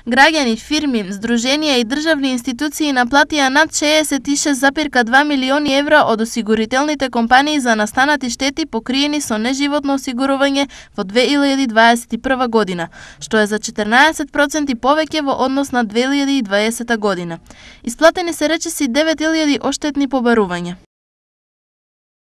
Граѓани, фирми, здруженија и државни институции наплатија над 66,2 милиони евра од осигурителните компании за настанати штети покриени со неживотно осигурување во 2021 година, што е за 14% повеќе во однос на 2020 година. Исплатени се речиси 9.000 оштетни побарувања.